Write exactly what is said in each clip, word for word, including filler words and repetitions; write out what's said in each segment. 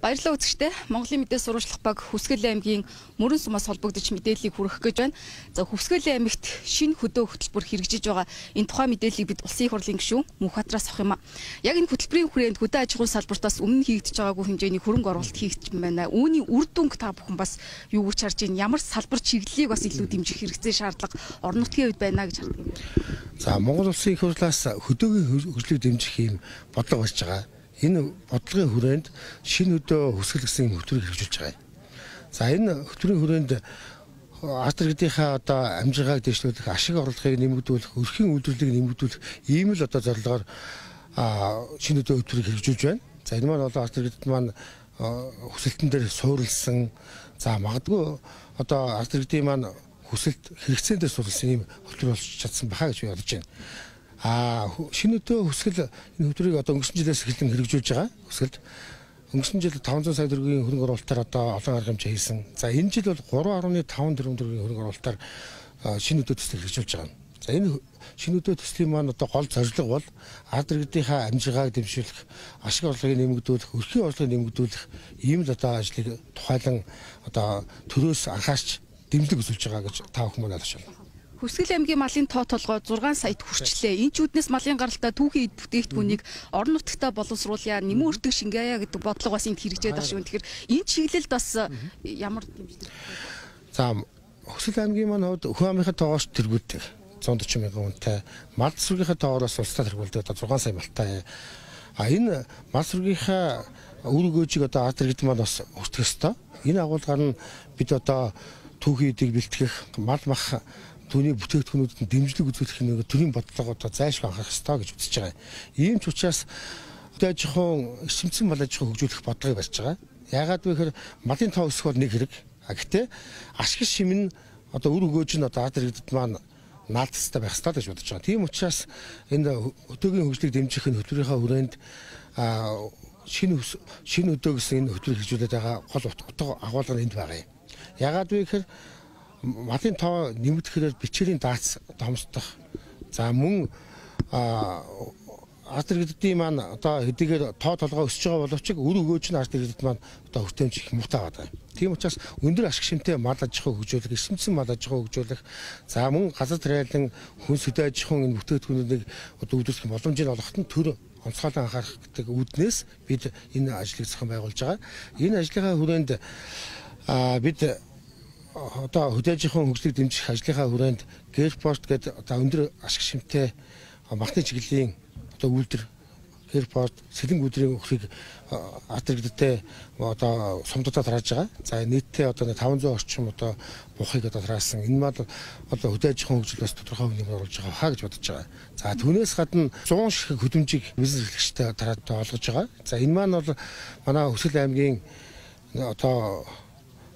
Баярлалаа үзэгчдээ. Монголын мэдээ сурвалжлах баг Хүсгэл аймгийн Мөрөн сумаас холбогдож мэдээллийг хүргэх гэж байна. За Хүсгэл аймагт шинэ хөдөө хөтөлбөр хэрэгжиж байгаа. Энэ тухайн мэдээллийг бид Улсын их хурлын гишүүн Мөнхбаатараас авах юм а. Яг энэ хөтөлбөрийн хүрээнд хөдөө аж ахуйн салбартаас өмнө хийгдэж байгаагүй хэмжээний хөрөнгө оруулалт хийгдэж байна. Үүний үр дүнг та бүхэн бас юу гэж харж байна? Ямар салбар чиглэлийг бас илүү дэмжих хэрэгцээ шаардлага орон нутгийн хувьд байна гэж хардаг юм. За Монгол Улсын их хурлаас хөдөөгийн хөгжлийг дэмжих юм бодлого барьж байгаа. Энэ бодлогын хүрээнд шинэ хөдөө хүсгэл гэсэн хөтөлбөрийг хэрэгжүүлж байгаа. За энэ хөтөлбөрийн хүрээнд ард иргэдийнхаа одоо амжиргааг дэвшлүүлэх, ашиг орлогыг нэмэгдүүлэх, өрхийн үйлдвэрлэлийг нэмэгдүүлэх ийм л одоо зорилгоор шинэ хөдөө хөтөлбөрийг хэрэгжүүлж байна. За энэ маань одоо ард иргэдэд маань хүсэлтэн дээр суурилсан, за магадгүй одоо ард иргэдийн маань хүсэлт хэрэгцээнд дээр суурилсан ийм хөтөлбөр болж чадсан баха гэж би бодож байна. А шинэ хөдөө хүсгэл энэ хөтөлбөрийг одоо өнгөрсөн жилээс эхлэн хэрэгжүүлж байгаа. Хүсгэлд өнгөрсөн жил таван зуун сая төгрөгийн хөрөнгө оруулалтаар одоо олон арга хэмжээ хийсэн. За энэ жил бол гурван гаруй таван тэрбум төгрөгийн хөрөнгө оруулалтаар шинэ хөдөө төслийг хэрэгжүүлж байгаа. За энэ шинэ хөдөө төслийн маань одоо гол зорилго бол ард иргэдийнхаа амжиргааг дэмжүүлэх, ашиг орлогыг нэмэгдүүлэх, өрхийн орлогыг нэмэгдүүлэх ийм л одоо ажлыг тухайлан одоо төрөөс анхаарч дэмжлэг үзүүлж байгаа гэж та бүхэн маань ойлгож байна. Хүсгэл аймгийн малын тоо толгой зургаан саяд хүрчлээ. Энэ ч үүднээс малын гаралтай түүхийн эд бүтээгдэхүүнийг орон нутгтаа боловсруулъя, нэмэн өртөг шингээе гэдэг бодлого бас энд хэрэгжээд байгаа шүү. Тэгэхээр энэ чиглэлд бас ямар дэмжлэг? За Хүсгэл аймгийн маань хувьд өхөн амынхаа тоогоос тэргүүлдэг зуун дөрвөн мянган хүнтэй. Мал сүргийнхаа тоогоос улстай тэргүүлдэг одоо зургаан сая малтай. А энэ мал сүргийнхаа үр өгөөжийг одоо ард иргэд маань бас өртөх ёстой. Энэ агуулгаар нь бид одоо түүхийн эдийг бэлтгэх, мал мах түүний бүтээгдэхүүнүүдэд дэмжлэг үзүүлэх нэг төрлийн бодлого одоо зайлшгүй анхаарах ёстой гэж үзэж байгаа. Ийм ч учраас хөдөө аж ахуйн эрчимцэн мал аж ахуй хөгжүүлэх бодлогыг барьж байгаа. Яагаад вэ гэхээр малын тоо өсөх бол нэг хэрэг. А гэхдээ ашиг шим нь одоо үр өгөөж нь одоо ард иргэдэд маань наалтастай байх ёстой гэж бодож байгаа. Тийм учраас энэ хөдөөгийн хөгжлийг дэмжих энэ хөтөлбөрийнхаа хүрээнд шинэ шинэ хөдөө гэсэн энэ хөтөлбөр хэрэгжүүлээд байгаа гол утга агуулга нь энд байгаа юм. Яагаад вэ гэхээр малын тоо нэмэгдэхээр бичээрийн дац томсдох. За мөн ард иргэдийн маань одоо хэдийгээр тоо толгой өсөж байгаа боловч үр өгөөж нь ард иргэдэд маань одоо хүртээмж их муутай байгаа. Тийм учраас өндөр ашиг шимтэй мал аж ахуй хөгжүүлэх, эрчимцэн мал аж ахуй хөгжүүлэх, за мөн газар тариалан хүнс хөдөө аж ахуйн энэ бүтээгдэхүүнийг одоо үүдүүлэх боломжийг олгоход нь төр онцгойлон анхаарах гэдэг үүднээс бид энэ ажлыг зохион байгуулж байгаа. Энэ ажлынхаа хүрээнд бид одоо хөдөө аж ахуйн хөгжлийг дэмжих ажлынхаа хүрээнд Гэрпорт гэдэг одоо өндөр ашиг шимтэй махны чиглэлийн одоо үйлдвэр Гэрпорт сэлэнг өдрийн өхрийг ард иргэдэд одоо сумдуудаа тарааж байгаа. За нийтдээ одоо таван зуун орчим одоо бухыг одоо тараасан. Энэ мал одоо хөдөө аж ахуйн хөгжил бас тодорхой хэмжээнд оруулж байгаа хаа гэж бодож байгаа. За түүнээс гадна зуун шиг хөдөлмжийг бизнес эрхлэгчтэй тараад олгож байгаа. За энэ маань бол манай Хүсгэл аймгийн одоо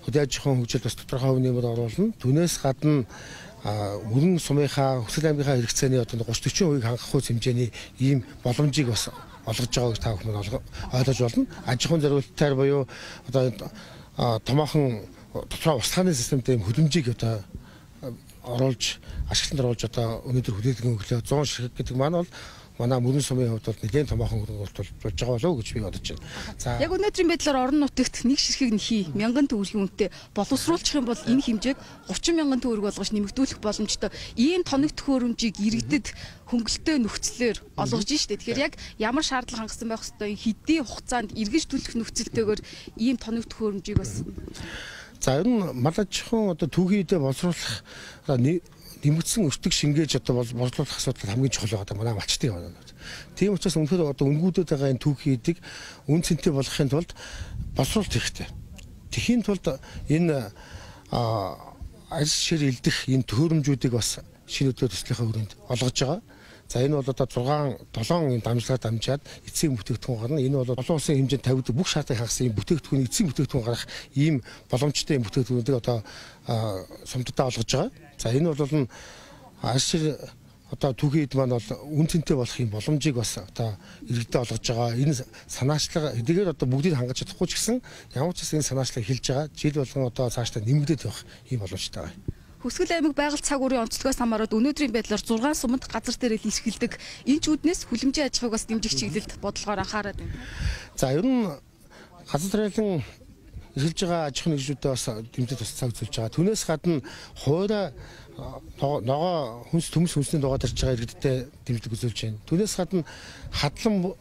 хөдөө аж ахуйн хөгжил бас тодорхой хэмжээнд оруулна. Түүнээс гадна Мөрөн сумынхаа Хүсгэл аймгийнхаа хэрэгцээний одоо гуравч дөрвөн хувийг хангах үс хэмжээний ийм боломжийг бас олгож байгаа гэж та бүхэн ойлгож болно. Аж ахуйн зориулалтаар буюу одоо томоохон тодорхой усхааны системтэй ийм хөдөлмжийг одоо оруулж ашиглалтанд оруулж одоо өнөөдөр хүлээлгэн өглөө зуун ширхэг гэдэг маань бол манай Мөрөн сумын хувьд бол нэгэн томоохон хөрөнгө оруулалт болж байгаа болов уу гэж би бодож байна. За яг өнөөдрийн байдлаар орон нутагт нэг ширхэг нь хий мянган төгрөгийн үнэтэй боловсруулчих юм бол энэ хэмжээг гучин мянган төгрөг болгож нэмэгдүүлэх боломжтой. Ийм тоног төхөөрөмжийг иргэдэд хөнгөлөлтөө нөхцлөөр олгож штэ. Тэгэхээр яг ямар шаардлага хангасан байх ёстой, хэдийн хугацаанд эргэж төлөх нөхцөлтэйгээр ийм тоног төхөөрөмжийг бас. За ер нь мал аж ахуйн одоо түүхийн эдээ боловсруулах нэмэгдсэн өртөг шингээж одоо боловсруулах асуудал хамгийн чухал байгаа манай малчтын байна. Тийм учраас үнэхээр одоо үнгүүдэд байгаа энэ түүхийн эдийг үн цэнтэй болгохын тулд боловсруулалт хэрэгтэй. Тэхийн тулд энэ арьс шир илдэх энэ төхөөрөмжүүдийг бас шинэ хөдөө төслийнхаа хүрээнд олгож байгаа. За энэ бол одоо зургаан долоон юм дамжлагаар дамжаад эцсийн бүтээгдэхүүн гарна. Энэ бол олон улсын хэмжээнд тавигддаг бүх шаардлагыг хангасан юм бүтээгдэхүүн эцсийн бүтээгдэхүүн гарах ийм боломжтой юм бүтээгдэхүүнүүдийг одоо сумдуудаа олгож байгаа. За энэ бол арьс шир одоо түүхийн эд маань бол үн цэнтэй болох юм боломжийг бас одоо иргэдэд олгож байгаа. Энэ санаачлага хэдийгээр одоо бүгдийг хангаж чадахгүй ч гэсэн ямар ч гэсэн энэ санаачлага хэлж байгаа. Жил болгон одоо цаашдаа нэмэгдээд байх ийм боломжтой байна. Хүсгэл аймаг байгаль цаг уурын онцлогоос хамаарат өнөөдрийн байдлаар зургаан суманд газар дээрэл илэрхийлдэг энэ ч үүднээс хүлэмжийн аж ахуйг бас дэмжих чиглэлд бодлогоор анхаарат байна. За ер нь газар тариалан эргэлж байгаа аж ахуйн нэгжүүдэд бас дэмжиж туслах үзүүлж байгаа. Түүнээс гадна хуура ногоо хүнс төмс хүнсний ногоо тарж байгаа иргэдтэй дэмжлэг үзүүлж байна. Түүнээс гадна хадлан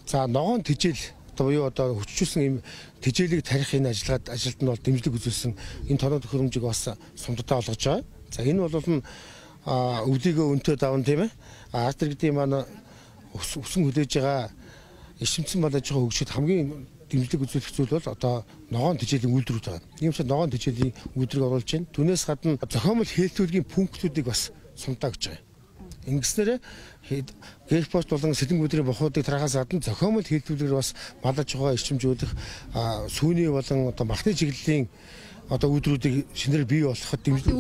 за ногоон тижэл одоо буюу одоо хүчжүүлсэн ийм тижээлийг тарих энэ ажиллагаад ажилд нь бол дэмжлэг үзүүлсэн энэ тоног төхөөрөмжийг бас сумдаа олгож байгаа. За энэ бол нь өвлийгөө өнтөө даван тийм ээ. Арт иргэдийн маань өсөн хүлээж байгаа ишимцэн бол аж ахуй хөгжид хамгийн дэмжлэг үзүүлэх зүйл бол одоо ногоон тижээлийн үйлдвэрүүд байгаа. Ийм ч ногоон тижээлийн үйлдвэрийг оруулж байна. Түүнээс гадна зохиомжтой хэлтүүлгийн пунктуудыг бас сумдаа өгч байгаа. Ингэснээр гэрпост болон сэлэнгүүдрийн бохуудыг тарахаас гадна зохиомжтой хэлтүүлгээр бас малаж байгаа эрчимжүүлэх сүүний болон одоо махны чиглэлийн одоо үйлдвэрүүдийг шинээр бий болгоход дэмжлэг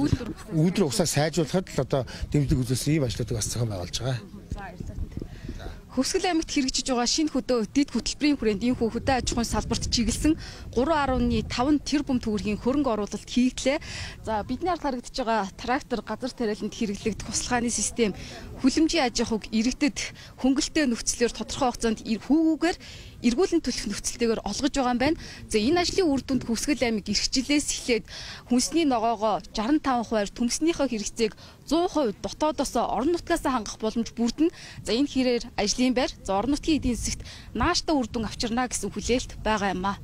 үйлдвэр угсаа сайжруулахад л одоо дэмжлэг үзүүлсэн ийм ажлуудыг бас зохион байгуулж байгаа. Хөвсгөл аймагт хэрэгжиж байгаа шинэ хөдөө дэд хөтөлбөрийн хүрээнд энэ хөдөө аж ахуйн салбарт чиглэсэн гурван гаруй таван тэрбум төгрөгийн хөрөнгө оруулалт хийгдлээ. За бидний ард харагдаж байгаа трактор газар тариаланд хэрэглэгдэх услахааны систем хүлэмжийн аж ахуйг иргэдэд хөнгөлтэй нөхцлөөр тодорхой хугацаанд хүүгүүгээр эргүүлэн төлөх нөхцөлтэйгээр олгож байгаа юм байна. За энэ ажлын үр дүнд Хөвсгөл аймаг эрх жилээс эхлээд хүнсний ногоогоо шестдесет и пять хувиар төмснийхөө хэрэгцээг сто хувь дотоодоос орон нутгаас хангах боломж бүрдэнэ. За энэ хэрээр ажлын байр за орон нутгийн эдийн засагт нааштай үр дүн авчирна гэсэн хүлээлт байгаа юм а.